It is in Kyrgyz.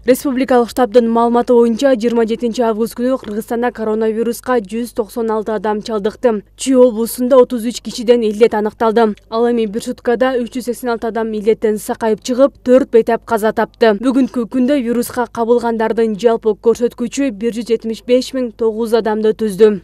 Республикалык штабдын маалыматы боюнча 27 август күнү Кыргызстанда коронавируска 196 адам чалдыкты. Чүй облусунда 33 кишиден илдет аныкталды. Ал эми бир суткада 386 адам илдеттен сакайып чыгып, 4 бейтап каза тапты. Бүгүнкү күндө вируска кабылгандардын жалпы көрсөткүчү 175.900 адамды түздү.